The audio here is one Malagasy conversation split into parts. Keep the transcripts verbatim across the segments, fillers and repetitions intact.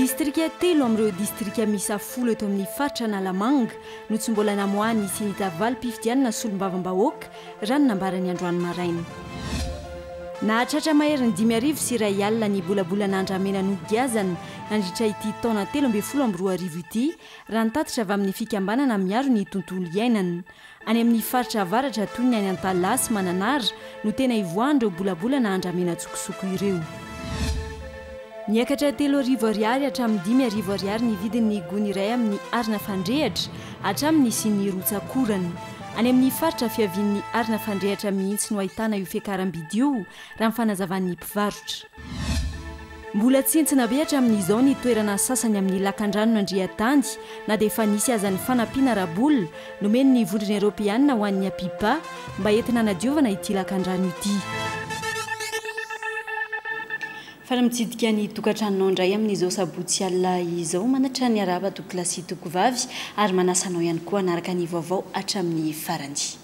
Distrika telo amin'ireo distrika miisa folo eto amin'ny faritra Analamanga no tsy mbola namoahan'ny CENI-T valim-pifidianana solombavambahoaka, raha ny nambarany androany maraina. Nahatratra maherin'ny dimy arivo sy iray alina ny bolabolana andramena nogiazana nandritra ity taona telo ambin'ny folo amby roa arivo ity, raha ny tatitra avy amin'ny fikambanana miaro ny tontolo iainana. Any amin'ny faritra avaratra toy ny any Antalaha sy Mananara no tena ivoahan'ireo bolabolana andramena tsokosoko ireo. Niakatra telo arivo ariary hatramin'ny dimy arivo ariary ny vidin'ny gony iray amin'ny arina fandrehatra hatramin'ny nisian'ny rotsakorana. Any amin'ny faritra fiavian'ny arina fandrehatra mihitsy no ahitana io fiakaram-bidy io, raha ny fanazavan'ny mpivarotra. Mbola tsentsina be hatramin'izao ny toerana sasany amin'ny lakandrano Andriatany, na dia efa nisy aza ny fanampiana ara-bola nomen'ny Vondrona Eoropeanina ho an'ny APIPA mba entina hanadiovana ity lakandrano ity. Fa mitsidika ny tokantranonao indray amin'izao sabotsy alina izao, manatra ny araba tompokolahy sy tompokovavy ary manasa anao ihany koa hanaraka ny vaovao hatramin'ny farany.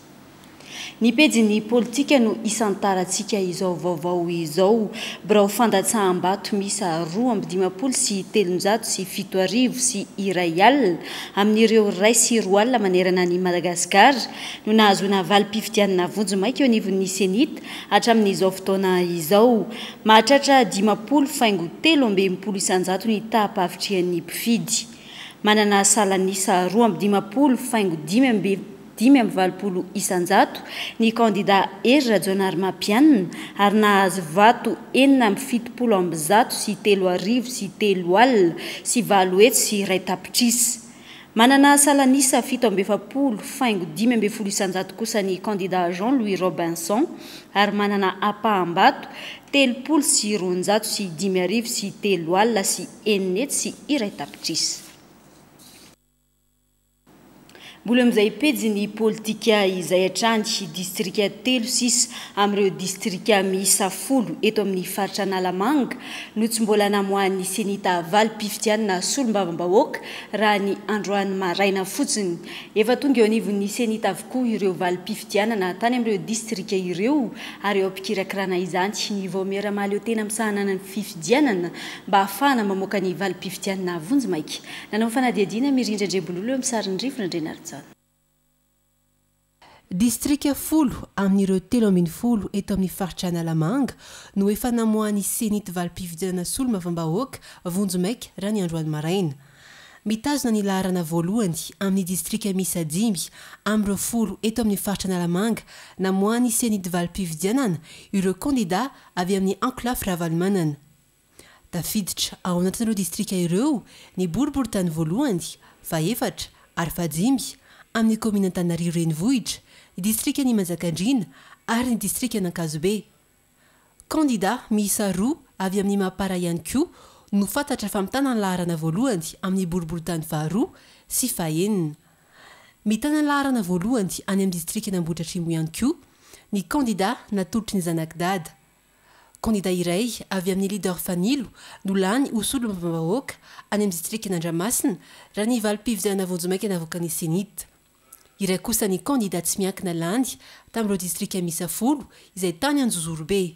Ny pejin'ny politika no isantarantsika izao vaovao izao. Birao fandatsaham-bato miisa roa amby dimampolo sy telonjato sy fito arivo sy iray alina amin'ireo iray sy roa alina manerana ny Madagasikara no nahazoana valim-pifidianana vonjimaika eo anivon'ny CENI-T hatramin'izao fotoana izao. Mahatratra dimampolo faingo telo amby enimpolo isanjato ny taham-pahavitrihan'ny mpifidy. Manana salanisa roa amby dimampolo faingo dimy amby dimy amby valopolo isanjato ny kandida Hery Rajaonarimampianina ary nahazo vato enina amby fitopolo amby zato sy telo arivo sy telo alina sy valo hetsy sy iray tapitrisa. Manana salanisa fito amby efapolo faingo dimy amby folo isanjato kosa ny kandida Jean-Louis Robinson ary manana ampaham-bato telopolo sy roanjato sy dimy arivo sy telo alina sy enina hetsy sy iray tapitrisa. Mbola amin'izay pejin'ny politika izay hatrany, distrika telo sisa amin'ireo distrika miisa folo eto amin'ny faritra Analamanga no tsy mbola namoahan'ny CENI-T valim-pifidianana solombavambahoaka raha ny androany maraina fotsiny. Efa tonga eo anivon'ny CENI-T avokoa ireo valim-pifidianana tany amin'ireo distrika ireo ary eo am-pikirakirana izany ny vaomiera mahaleo tena misahana ny fifidianana mba ahafahana mamoaka ny valim-pifidianana vonjimaika. Nanao fanadihadiana Mirindra Andriambololo eo amin'ny sarin'ny Rivotra Andrianarijaona. Distrika folo amin'ireo telo ambin'ny folo eto amin'ny faritra Analamanga no efa namoahan'ny CENI-T valim-pifidianana solombavambahoaka vonjimaika raha ny androany maraina. Mitazona ny laharana voalohany amin'ny distrika miisa dimy amin'ireo folo eto amin'ny faritra Analamanga namoahan'ny CENI-T valim-pifidianana ireo kandida avy amin'ny ankolafy Ravalomanana. Tafiditra ao anatin'ireo distrika ireo ny boriborintany voalohany, fahefatra ary fahadimy amin'ny kaominina Antananarivo renivohitra, ny distrikan'i Manjakandriana ary ny distrikan'Ankazobe. Kandida miisa roa avy amin'ny Mapara ihany koa no fantatra fa mitana ny laharana voalohany amin'ny boriborintany faharoa sy fahenina. Mitana ny laharana voalohany any amin'ny distrikan'Ambohidratrimo ihany koa ny kandida natolotry ny zanak'i Dada. Kandida iray avy amin'ny leader Fanilo no lany ho solombavambahoaka any amin'ny distrikan'Andramasina raha ny valim-pifidianana vonjimaika navoakan'ny CENI-T. Iray kosa ny kandida tsy miankina lany tamin'ireo distrika miisa folo izay tany Anjozorobe.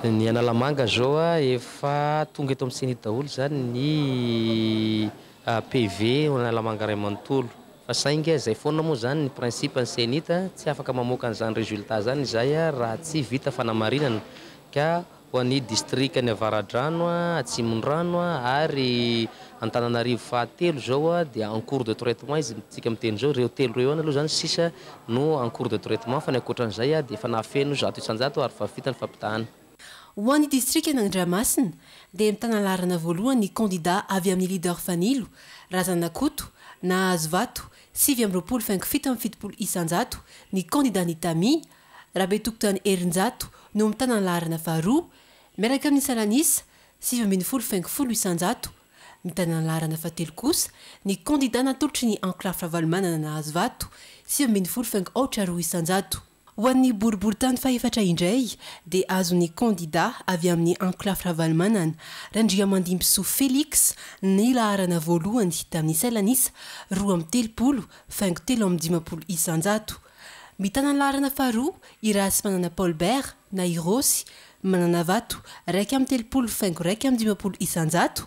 Ny Analamanga zao efa tonga eto amin'ny CENI-T daholo zany ny P V Analamanga iray manontolo. Fa saingy izay foana moa zany ny principe ny CENI-T, tsy afaka mamoaka an'izany résultat zany izay raha tsy vita fanamarinana. Ka ho an'ny distrika ny Avaradrano, Atsimondrano ary Antananarivo fahatelo zao dia en cours de traitement izy tsika miteny zao. Ireo telo ireo ihany aloha zany sisa no en cours de traitement, fa ny ankoatran'izay dia efa nahafeno zato isanjato ary fa vita ny fampitahana. Ho an'ny distrikan'Andramasina dia mitana laharana voalohany ny kandida avy amin'ny leader Fanilo, Razanakoto, nahazo vato sivy amby roapolo faingo fito amby fitopolo isanjato. Ny kandida ny Tami, Rabetokotany Herinjato, no mitana ny laharana faharoa miaraka amin'ny salanisa sivy ambin'ny folo faingo folo isanjato. Mitana ny laharana fahatelo kosa ny kandida natolotry ny ankolafy Ravalomanana, nahazo vato sivy ambin'ny folo faingo aotra roa isanjato. Ho an'ny boriborintany fahefatra indray dia azon'ny kandida avy amin'ny ankolafy Ravalomanana, Randriamandimbisoa Félix, ny laharana voalohany tamin'ny salanisa roa amby telopolo faingo telo amby dimampolo isanjato. Mitana ny laharana faharoa i Rahasimanana Paul Bert na i Rosy, manana vato raika amby telopolo faingo raika amby dimampolo isanjato.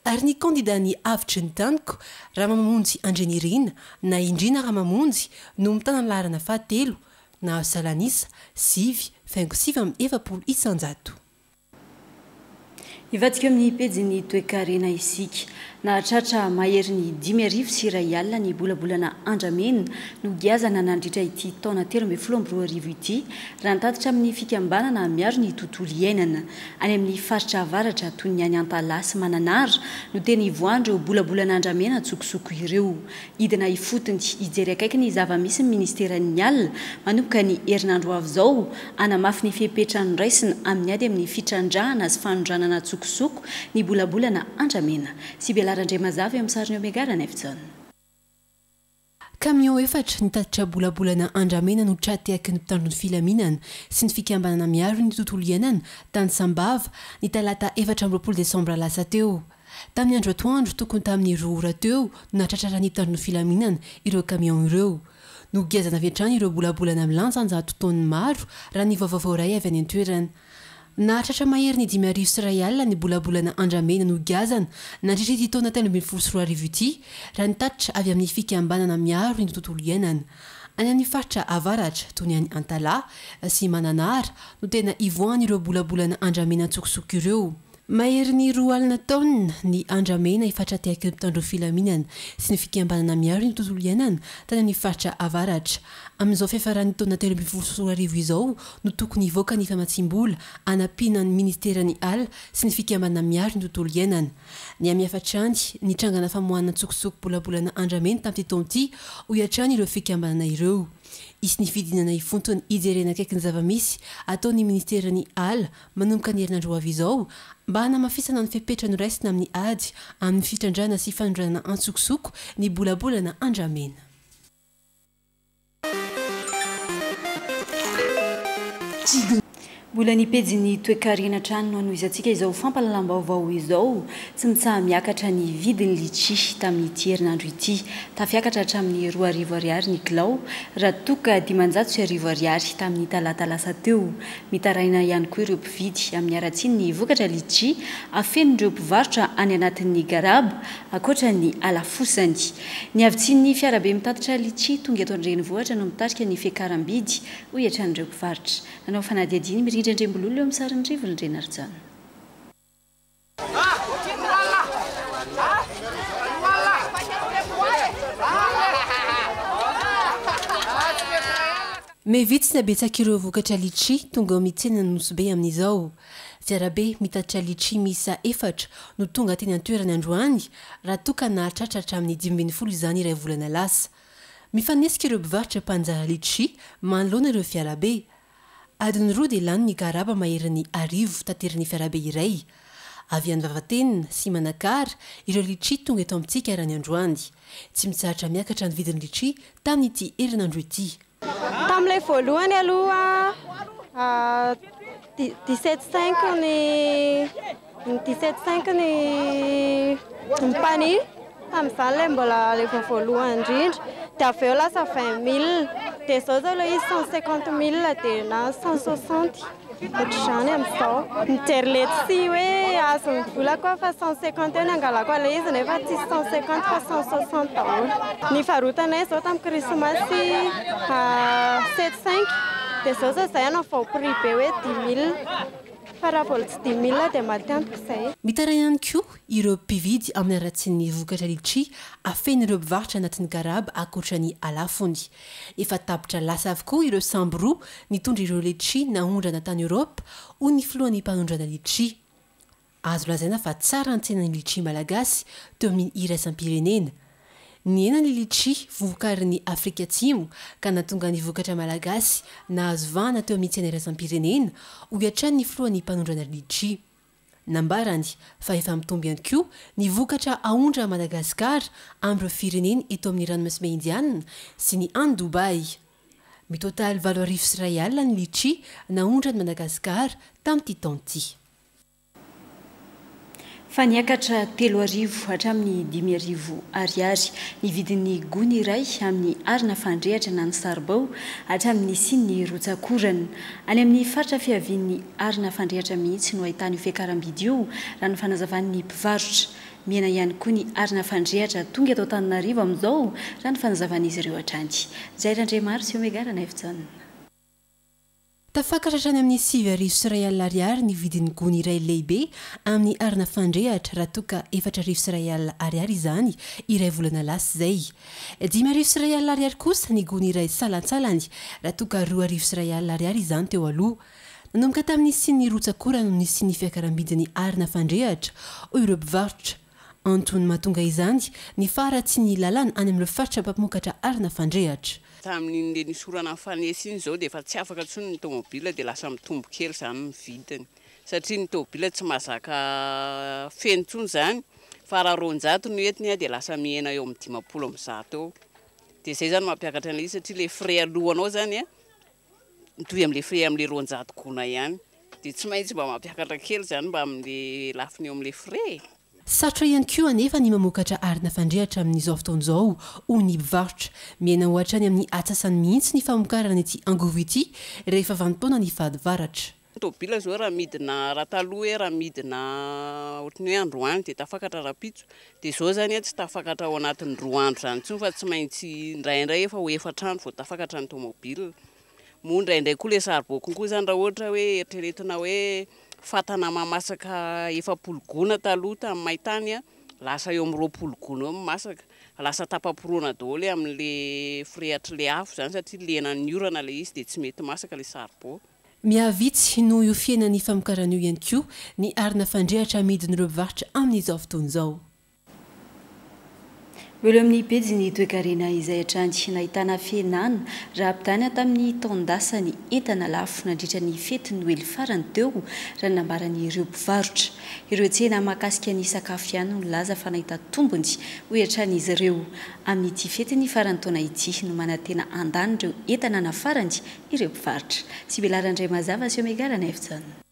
Ary ny kandida ny Avotry ny Taniko, Ramamonjy Andrianirina na Indrina Ramamonjy, no mitana ny laharana fahatelo, nahazo salanisa sivy faingo sivy amby efapolo isanjato. Ivadika amin'ny pejin'ny toekarena isika. Nahatratra maherin'ny dimy arivo sy iray alina ny bolabolana andramena no giazana nandritra ity taona telo ambin'ny folo amby roa arivo ity, raha nitatitra amin'ny fikambanana miaro ny tontolo iainana. Any amin'ny faritra avaratra toy ny any Antalaha sy Mananara no tena ivoahan'ireo bolabolana andramena an-tsokosoko ireo. Hidina ifotony hijery akaiky ny zava-misy ny ministeran'ny ala manomboka ny herinandro avy izao, hanamafy ny fepetra noraisina amin'ny ady amin'ny fitrandrahana sy fanondranana an-tsokosoko ny bolabolana andramena. Sibela Randriamazava eo amin'ny sariny Omega Ranaivojaona. Kamion efatra nitatitra bolabolana andramena no tra-tehaky ny mpitandro ny filaminana sy ny fikambanana miaro ny tontolo iainana tany Sambava ny talata efatra amby roapolo desambra lasa teo. Tamin'ny andro atoandro tokony tamin'ny roa ora teo no nahatratraran'ny mpitandro ny filaminana ireo kamion ireo. Nogiazana avy hatrany ireo bolabolana milanja anjato taonina maro raha ny vaovao voaray avy any an-toerana. Nahatratra mahery ny dimy arivo sy iray alina ny bolabolana andramena nogiazana nandritra ity taona telo ambin'ny folo sy roa arivo ity, raha nitatitra avy amin'ny fikambanana miaro ny tontolo iainana. Any amin'ny faritra avaratra toy ny any Antalaha sy Mananara no tena ivoahan'ireo bolabolana andramena an-tsokosoko ireo. Mahery ny roa alina taonina ny andramena efa tra-tehaky ny mpitandro filaminana sy ny fikambanana miaro ny tontolo iainana tany amin'ny faritra avaratra. Amin'izao fiafaran'ny taona telo ambin'ny folo sy roa arivo izao no tokony hivoaka ny famatsiam-bola hanampiana ny ministeran'ny ala sy ny fikambanana miaro ny tontolo iainana. Ny amin'ny hatrany ny trangana famoahana an-tsokosoko bolabolana andramena tamin'ity taona ity, hoy hatrany ireo fikambanana ireo. Hisy ny fidinana ifotony hijerena akaiky ny zava-misy ataon'ny ministeran'ny ala manomboka ny herinandro ho avy izao mba hanamafisana ny fepetra noraisina amin'ny ady amin'ny fitrandrahana sy fanondranana an-tsokosoko ny bolabolana andramena. Mbola ny pejin'ny toekarena hatrany no hanohizantsika izao fampahalalam-baovao izao. Tsy mitsaha-miakatra ny vidin'ny litchi tamin'ity herinandro ity. Tafiakatra hatramin'ny roa arivo ariary ny kilao, raha toa ka dimanjato sy arivo ariary tamin'ny talata lasa teo. Mitaraina ihany koa ireo mpividy amin'ny haratsian'ny vokatra litchi afenin'ireo mpivarotra any anatin'ny garaba ankoatra ny halafosany. Ny havitsian'ny fiarabe mitatitra litchi tonga eto an-drenivohitra no mitarika ny fiakaram-bidy, hoy hatrany ireo mpivarotra. Nanao fanadihadiana Mirindra Andriambololona eo amin'ny sarin'ny Rivo Randrianarijaona. Mevitsy ny habetsak'ireo vokatra litchi tonga ao amin'ny tsenan'ny Nosy Be amin'izao. Fiarabe mitatitra litchi miisa efatra no tonga teny an-toerana androany, raha toa ka nahatratra hatramin'ny dimy ambin'ny folo izany iray volana lasa. Mifanesika ireo mpivarotra mpanjara litchi manoloana ireo fiarabe. Adiny roa dia lany ny garaba maherin'ny arivo taterin'ny fiarabe iray. Avy any Vavatenina sy Manakara ireo litchi tonga eto amintsika raha ny androany. Tsy mitsahatra miakatra ny vidin'ny litchi tamin'ity herinandro ity. Tamin'ilay voalohany aloha dix-sept cinq ny dix-sept cinq ny ny panier tamin'izany ilay mbola ilay vao voalohany indrindra, dia avy eo lasa vingt mille, dia izao izao ilay izy cent cinquante mille dia na cent soixante ohatr'izany amin'izao. Mijery letchi hoe azon'ny vola koa fa cent cinquante eo ny angalako an'ilay izy nefa tsisy cent cinquante fa cent soixante daholo. Ny varotanay izao tamin'ny krismasy sept cinq dia izao izao izay hanao vao prix be hoe dix mille, fa raha vao tsy dix mille dia matiantoka izay. Mitaraina ihany koa ireo mpividy amin'ny haratsian'ny vokatra litchi afenin'ireo mpivarotra anatin'ny garaba ankoatra ny halafony. Efa tapitra lasa avokoa ireo sambo roa nitondra ireo litchi naondrana tany Eoropa, hoy ny filohan'ny mpanondrana litchi. Azo lazaina fa tsara ny tsenan'ny litchi malagasy teo amin'ny iraisam-pirenena. Nihena ny litchi vokarin'ny Afrika Atsimo ka nahatonga ny vokatra malagasy nahazo vahana teo amin'ny tsena iraisam-pirenena, hoy hatrany ny filohan'ny mpanondrana litchi. Nambarany fa efa mitombo ihany koa ny vokatra aondra Madagasikara amin'ireo firenena eto amin'ny ranomasina Indiana sy ny any Dubai. Mitotaly valo arivo sy iray alina ny litchi naondra ny Madagasikara tamin'ity taona ity. Fa niakatra telo arivo hatramin'ny dimy arivo ariary ny vidin'ny gony iray amin'ny arina fandrehatra na ny saribao hatramin'ny sin'ny rotsakorana. Any amin'ny faritra fiavian'ny arina fandrehatra mihitsy no ahitana io fiakaram-bidy io, raha ny fanazavan'ny mpivarotra. Mihena ihany koa ny arina fandrehatra tonga eto Antananarivo amin'izao, raha ny fanazavan'izy ireo hatrany. Jair Andriamaro sy Omega Ranaivojaona. Tafakatra hatrany amin'ny sivy arivo sy iray alina ariary ny vidin'ny gony iray lehibe amin'ny arina fandrehatra, raha toa ka efatra arivo sy iray alina ariary izany iray volana lasa izay. Dimy arivo sy iray alina ariary kosa ny gony iray salantsalany, raha toa ka roa arivo sy iray alina ariary izany teo aloha. Nanomboka tamin'ny nisian'ny rotsak'orana no nisian'ny fiakaram-bidin'ny arina fandrehatra, hoy ireo mpivarotra. Antony mahatonga izany ny faharatsian'ny lalana any amin'ireo faritra mpampamokatra arina fandrehatra. Tamin'iny le nisorana nifanesy iny izao dia efa tsy afaka intsony ny tomobila, dia lasa mitombo kely izany ny vidiny, satria ny tomobila tsy mahazaka feno intsony izany, fa raha roanjato no entiny dia lasa mihena eo amin'ny dimampolo amby zato eo. Dia izay izany mampiakatra an'ilay izy, satria le frais alohanao izany a mitovy amin'ilay frais amin'ilay roanjato gona ihany, dia tsy maintsy mba mampiakatra kely izany mba amin'ilay lafiny eo amin'ilay frais. Sarotra ihany koa anefa ny mamokatra arina fandrehatra amin'izao fotoana izao, hoy ny mpivarotra. Mihena ho hatrany amin'ny atsasany mihitsy ny famokarana ity angovo ity rehefa vanim-potoana ny fahavaratra. Tomobila izao raha midina, raha taloha hoe raha midina ohatran'ny hoe androany dia tafakatra rahampitso, dia izao izany tsy tafakatra ao anatin'ny roa andro izany intsony, fa tsy maintsy indraindray efa ho efatra andro vao tafakatra ny tomobila. Moa indraindray koa ilay saribao konkoa izany, raha ohatra hoe eritreretina hoe fatana mamasaka efapolo gona taloha tamin'ny maintany, lasa eo amin'ny roapolo gona eo ny masaka, lasa tapa-poroana daholo amin'ilay firehatr'ilay afo izany, satria lenan'ny orana ilay izy dia tsy mety masaka ilay saribao. Mihavitsy noho io fihenan'ny famokarana io ihany koa ny arina fandrehatra amidin'ireo mpivarotra amin'izao fotoana izao. Mbola amin'ny pejy ny toekarena izay hatrany nahitana fihenana raha ampitahaina tamin'ny taon-dasa ny entana lafo nandritra ny fety Noely farany teo, raha ny nambaran'ireo mpivarotra. Ireo tsena mahakasika ny sakafo ihany no nilaza fa nahita tombony, hoy hatrany izy ireo. Amin'ity fety ny faran'ny taona ity no manantena handany ireo entana nafarany ireo mpivarotra. Sibela Randriamazava sy Omega Ranaivojaona.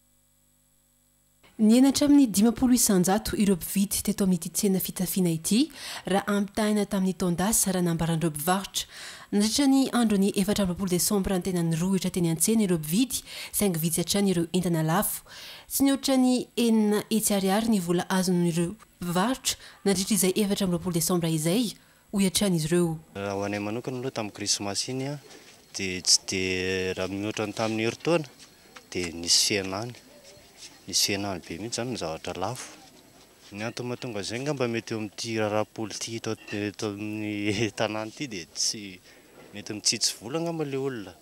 Nihena hatramin'ny dimampolo isanjato ireo mpividy teto amin'ity tsena fitafiana ity raha ampitahaina tamin'ny taon-dasa, raha nambaran'ireo mpivarotra. Nandritra ny andron'ny efatra amby roapolo desambra ny tena nirohitra teny an-tsena ireo mpividy, saingy vitsy hatrany ireo entana lafo. Tsy nihoatra ny enina hetsy ariary ny vola azon'ireo mpivarotra nandritra izay efatra amby roapolo desambra izay, hoy hatrany izy ireo. Raha ho anay manokana aloha tamin'ny krismasy iny a, dia tsy dia raha mihoatra ny tamin'ny herintaona dia nisy fihenany. Nisy fihenany be mihitsy izany ny zavatra lafo. Ny antony mahatonga izay angamba mety eo amin'ity raharaha politika eto, eto amin'ny tanàna ity dia tsy mety mitsitsy vola angamba ilay olona.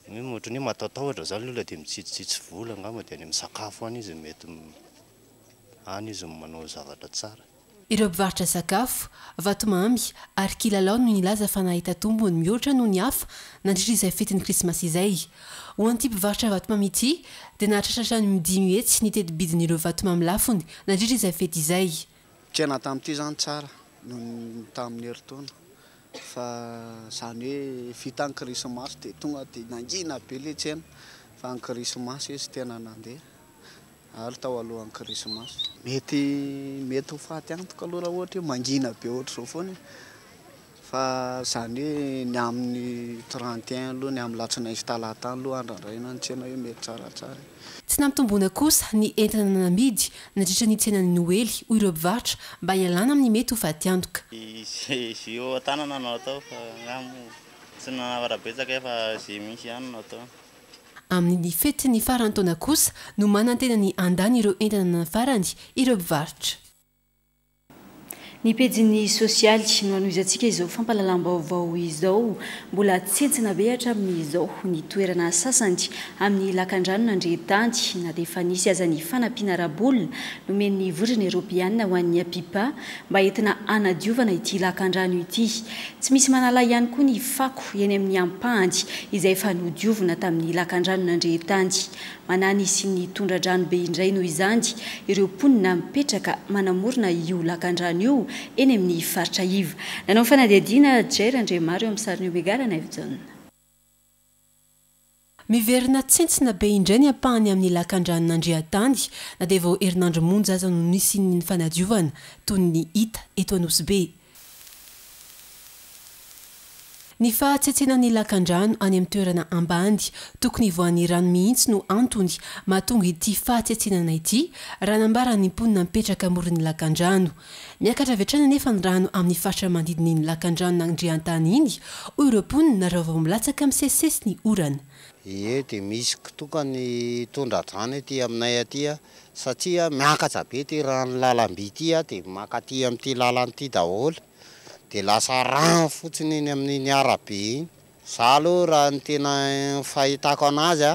Hoe ohatran'ny hoe matatahotra izany ilay olona dia mitsitsitsitsy vola angamba, dia any amin'ny sakafo any izy mety any izy manao zavatra tsara. Ireo mpivarotra sakafo, vatomamy ary kilalao no nilaza fa nahita tombony mihoatra noho ny hafa nandritra izay fetin'ny krismasy izay. Ho an'ity mpivarotra vatomamy ity dia nahatratra hatrany dimy hetsy ny teti-bidin'ireo vatomamy lafony nandritra izay fety izay. Tsena tamin'ity izany tsara noho ny tamin'ny herintaona, fa izany hoe vita ny krismasy dia tonga dia nangina be ilay tsena, fa ny krismasy izy tena nandeha ary tao alohan'ny krismasy. Mety, mety ho faty antoka aloha raha ohatra hoe mangina be ohatr'izao foana, fa izany hoe ny amin'ny trente et un aloha, ny amin'ny alatsinainy sy talata aloha andrandraina ny tsena hoe mety tsaratsara. Tsy nampitomboana kosa ny entana namidy nandritra ny tsenan'ny Noely, hoy ireo mpivarotra, mba hialana amin'ny mety ho faty antoka. Izay eo an-tanana no atao, fa angamba tsy nanavatra betsaka fa izay misy ihany no atao. Amin'ny fetin'ny faran'ny taona kosa no manantena ny handany ireo entana nafarany ireo mpivarotra. Ny pejin'ny sosialy no hanohizantsika izao fampahalalam-baovao izao. Mbola tsentsina be hatramin'izao ny toerana sasany amin'ny lakandrano Nandrehetany, na dia efa nisy aza ny fanampiana ara-bola nomen'ny Vondrona Eoropeana ho an'ny APIPA mba entina hanadiovana ity lakandrano ity. Tsy misy manala ihany koa ny fako eny amin'ny ampahany izay efa nodiovina tamin'ny lakandrano Nandrehetany. Manany sy ny tondra-drano be indray noho izany ireo mponina mipetraka manamorona io lakandrano io eny amin'ny faritra iva. Nanao fanadihadiana Jair Andriamaro eo amin'ny sarin'ny Omega Ranaivojaona. Miverina tsentsina be indray ny ampahany amin'ny lakandrano Nandriantany, na dia vao herinandro monja aza no nisian'ny fanadiovana toy ny hita eto Anosibe. Ny fahatsetsenan'ny lakandrano any amin'ny toerana ambany tokony hivoahan'ny rano mihitsy no antony mahatonga ity fahatsetsenana ity, raha nambaran'ny mponina mipetraka amoron'ny lakandrano. Miakatra avy hatrany anefa ny rano amin'ny faritra manodidina iny lakandrano Andriantany iny, hoy ireo mponina raha vao milatsaka misesisesy ny orana. Ie, dia misy tokony tondra-drano ety aminay aty satria miakatra be ty rano lalamby ity, dia makaty amin'ity lalana ity daholo, dia lasa rano fotsiny eny amin'iny arabe iny. Za aloha raha ny tena fahitako anazy a,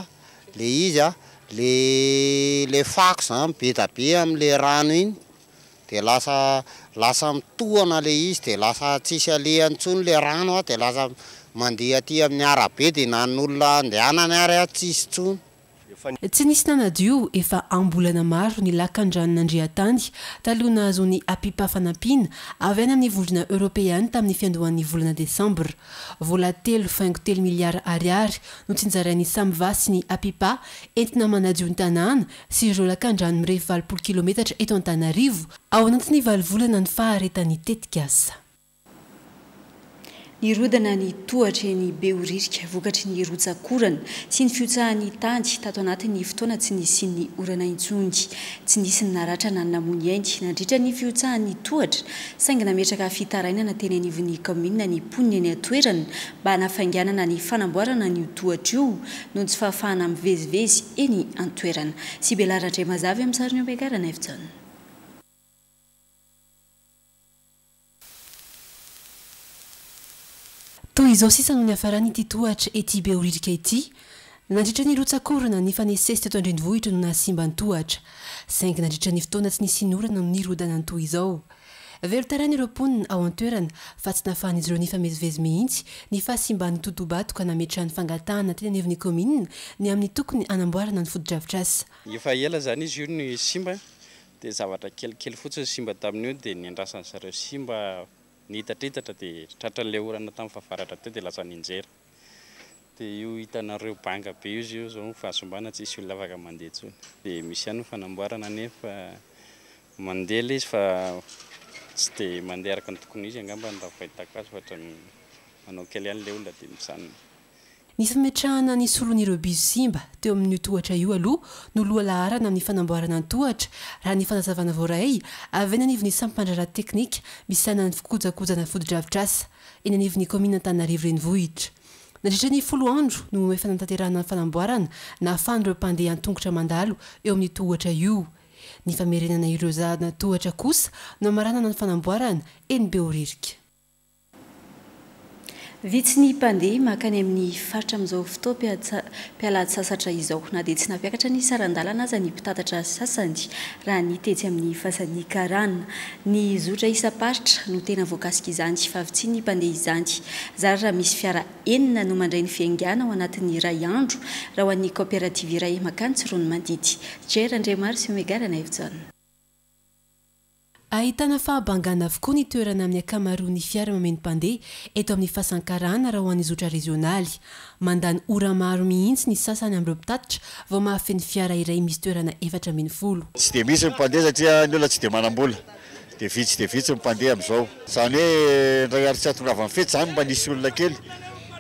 le izy a, le le fako zany be da be amin'le rano iny, dia lasa lasa mitohana le izy, dia lasa tsisy alehany intsony le rano a, dia lasa mandeha aty amin'ny arabe, dia na ny olona andehanany ary a tsisy intsony. Tsy nisy nanadio efa ambolana maro ny lakandranon'Andriantany taloha nahazoan'ny APIPA fanampiana avy any amin'ny vondrona eoropeana tamin'ny fiandohan'ny volana desambra. Vola telo faingo telo miliara ariary no tsinjarain'ny SAMVA sy ny APIPA entina manadio ny tanàna sy ireo lakandrano mirefy valopolo kilometatra eto Antananarivo ao anatin'ny valo volana ny faharetan'ny tetikasa. Nirodana ny tohatra eny Behoririka vokatry ny rotsakorana sy ny fihotsahan'ny tany tato anatin'ny fotoana tsy nisian'ny orana intsony. Tsy nisy ny naratra na namoy ainy nandritra ny fihotsahan'ny tohatra, saingy nametraka fitarainana teny anivon'ny kaominina ny mponina eny an-toerana mba hanafainganana ny fanamboarana ny tohatra io noho ny tsy fahafahana mivezivezy eny an-toerana. Sibela Randriamazavy amin'ny sariny ampiakarana Efijaona. Toy izao sisa no niafarany ity tohatra ety Behoririka ity. Nandritra ny rotsakorana nifanesesy teto an-drenivohitra no nahasimba ny tohatra, saingy nandritra ny fotoana tsy nisy orana no nirodana ny toy izao. Velon-taraina ireo mponina ao an-toerana fa tsy nahafahan'izy ireo nifamezivezy mihitsy ny fahasimban'ny totobato ka nametrahany fangatahana teny anivon'ny kaominina ny amin'ny tokony hanamboarana ny fotodrafitrasa. Efa ela zany izy io ny simba, dia zavatra kelikely fotsiny simba tamin'io, dia niandrasan'ny zareo simba nihitratritatra dia tratran'ilay orana tamin'ny fahavaratra teo dia lasa ninjera. Dia io hitanareo banga be io izy io zao fahasimbana, tsisy olona afaka mandeha intsony. Dia misy ihany ny fanamboarana nefa mandeha ilay izy fa tsy dia mandeha araka ny tokony izy angamba ny raha fahitako azy, fa ohatran'ny manao kely ihany ilay olona dia mijanona. Ny fametrahana ny solon'ireo bizo simba teo amin'io tohatra io aloha no loha laharana amin'ny fanamboarana ny tohatra, raha ny fanazavana voaray avy eny anivon'ny sampan-draharaha teknika misahana ny fikojakojana fotodrafitrasa eny anivon'ny kaominina Antananarivo renivohitra. Nandritra ny folo andro no efa nanatanterahana ny fanamboarana nahafahan'ireo mpandeha an-tongotra mandalo eo amin'ny tohatra io. Ny famerenana ireo zana tohatra kosa no hamaranana ny fanamboarana eny Behoririka. Vitsy ny mpandeha mankany amin'ny faritra amin'izao fotoam-pialan-tsasatra izao, na dia tsy nampiakatra ny saran-dalana aza ny mpitatatra sasany raha ny tetsy amin'ny fasan'ny karana. Ny zotra isam-paritra no tena voakasika izany, fa vitsy ny mpandeha izany. Zara raha misy fiara enina no mandray ny fiaingàna ao anatin'ny iray andro raha ho an'ny kaoperativa iray mankany Tsiroanomandidy. Jer Andriamaro sy Omega Ranaivojaona. Ahitana fahabangana avokoa ny toerana amin'ny ankamaroan'ny fiara mameno mpandeha eto amin'ny fasan-karana raha ho an'ny zotra rezionaly. Mandany ora maro mihitsy ny sasany amin'ireo mpitatitra vao mahafeno fiara iray misy toerana efatra ambin'ny folo. Tsy dia misy ny mpandeha satria ny olona tsy dia manam-bola, dia vitsy dia vitsy ny mpandeha amin'izao. Izany hoe indray ary tsy ahatongavan'ny fety izany mba nisy olona kely,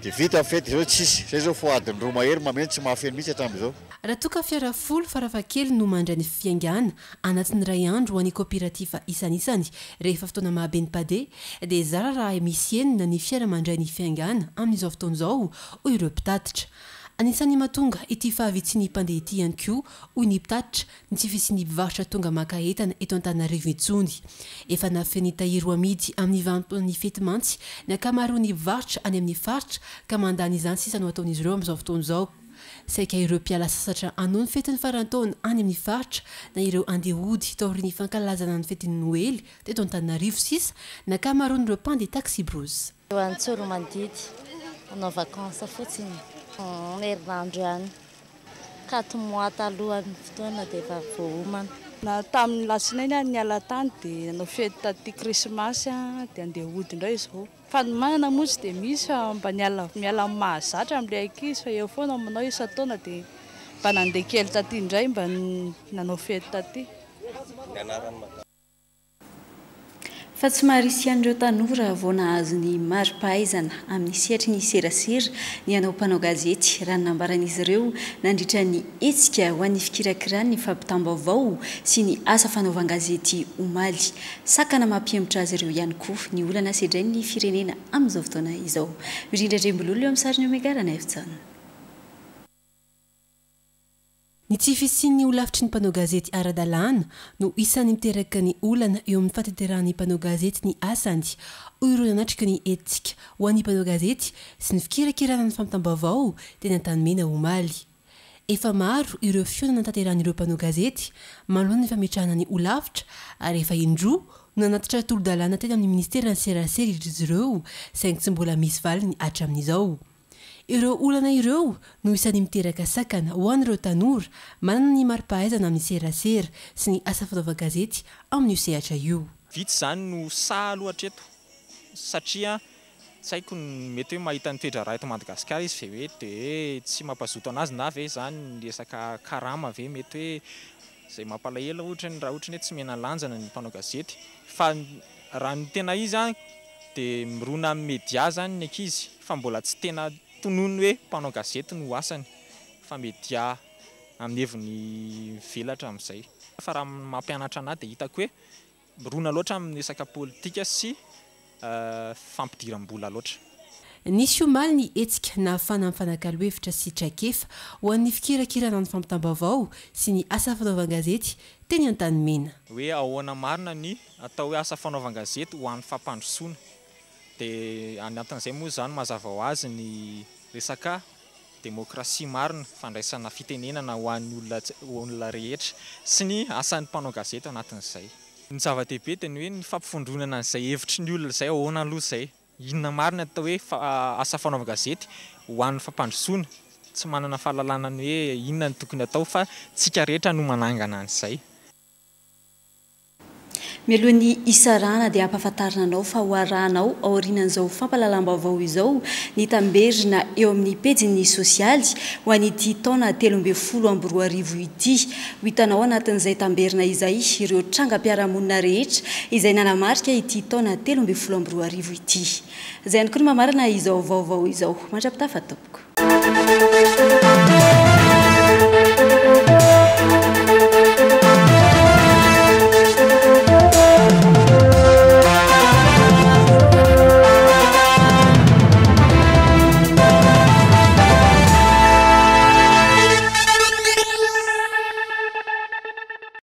dia vita ny fety izao tsisy. Izay izao fo adiny roa mahery mameno tsy mahafeno mihitsy hatramin'izao. Raha toa ka fiara folo farafahakeliny no mandray ny fiaingàna anatin'ny iray andro ho an'ny kaoperativa isanisany rehefa fotoana mahabe ny mpandeha, dia zara raha misy enina ny fiara mandray ny fiaingàna amin'izao fotoana izao, hoy ireo mpitatitra. Anisan'ny mahatonga ity fahavitsin'ny mpandeha ity ihany koa, hoy ny mpitatitra, ny tsy fisian'ny mpivarotra tonga maka entana eto Antananarivo intsony. Efa nafen'ny tahiry ho amidy amin'ny vanim-potoanan'ny fety mantsy ny ankamaroan'ny mpivarotra any amin'ny faritra ka mandany izany sisa no ataon'izy ireo amin'izao fotoana izao. Saika ireo mpiala sasatra hanao ny fetin'ny faran-taona any amin'ny faritra na ireo andeha hody taorian'ny fankalazana ny fetin'ny Noely teto Antananarivo sisa ny ankamaroan'ireo mpandeha taxi-brousse. Eo Antsoromandidy hanao vacances fotsiny, herinandro ihany, quatre mois talohan'ny fotoana dia efa voaomana. Na tamin'ny alatsinainy aho niala tany dia nanao fety taty krismasy dia andeha hody indray izao. Fanomanana moa tsy dia misy fa mba niala, miala amin'ny mahazatra amin'ilay ankizy fa eo foana manao isan-taona dia mba nandeha kely taty indray mba nanao fety taty. Fa tsy maharisy an'ireo tanora vao nahazo ny mari-pahaizana amin'ny sehatry ny serasera ny hanao mpanao gazety, raha ny nambaran'izy ireo nandritra ny hetsika ho an'ny fikirakirany ny fampitam-baovao sy ny asa fanaovan-gazety omaly. Sakana mampihemotra azy ireo ihany koa ny olana sedrain'ny firenena amin'izao fotoana izao. Mirindra Andriambololona eo amin'ny sarin'ny Omega Ranaivotsana. Ny tsy fisian'ny holafitry ny mpanao gazety ara-dalàna no isan'ny miteraka ny olana eo amin'ny fahatanterahan'ny mpanao gazety ny asany, hoy ireo nanatrika ny hetsika ho an'ny mpanao gazety sy ny fikirakirana ny fampitam-baovao teny Antanimena omaly. Efa maro ireo fihaonana notanterahan'ireo mpanao gazety manoloana ny fametrahana ny holafitra ary efa indroa no nanatitra tolo-dalàna teny amin'ny ministeran'ny serasera izy ireo, saingy tsy mbola misy valiny hatramin'izao. Ireo olana ireo no isan'ny miteraka sakana ho an'ireo tanora manana ny mari-pahaizana amin'ny serasera sy ny asa fanaovan-gazety amin'io sehatra io. Vitsy izany no sahy aloha hatreto satria tsy haiko ny mety hoe mahita ny toe-draharaha eto Madagasikara izy ve hoe dia tsy mampazoto anazy na ve izany ny resaka karama ve mety hoe izay mampalahelo ohatra ny raha ohatra ny hoe tsy mena lanjana ny mpanao gazety, fa raha ny tena izy a dia mirona amin'ny media izany ny ankizy fa mbola tsy tena tonony hoe mpanao gazety no asany fa media amin'ny heviny velatra amin'izay. Fa raha mampianatra anahy dia hitako hoe mirona loatra amin'ny resaka politika sy fampidiram-bola loatra. Nisy omaly ny hetsika nahafahana mifanakalo hevitra sy traikefa ho an'ny fikirakirana ny fampitam-baovao sy ny asa fanaovan-gazety teny Antanimena. Hoe ahoana marina ny atao hoe asa fanaovan-gazety ho an'ny fampandrosoana, dia anatin'izay moa izany mazava ho azy ny resaka demokrasia marina, fandraisana fitenenana ho an'ny olona olona rehetra sy ny asan'ny mpanao gazety anatin'izay. Ny zava-dehibe dia ny hoe ny fampivondronana an'izay hevitry ny olona izay, ahoana aloha izay, inona marina atao hoe asa fanaovan-gazety ho an'ny fampandrosoana, tsy manana fahalalana ny hoe inona no tokony atao fa tsika rehetra no manangana an'izay. Mialohan'ny isarana dia ampahafantarina anao fa ho arahanao aorianan'izao fampahalalam-baovao izao ny tamberina eo amin'ny pejin'ny sosialy ho an'ity taona telo ambin'ny folo amby roa arivo ity. Ho hitanao anatin'izay tamberina izay ireo trangam-piarahamonina rehetra izay nanamarika ity taona telo ambin'ny folo amby roa arivo ity. Izay ihany koa no mamarana izao vaovao izao. Mandra-pitafa tompoko.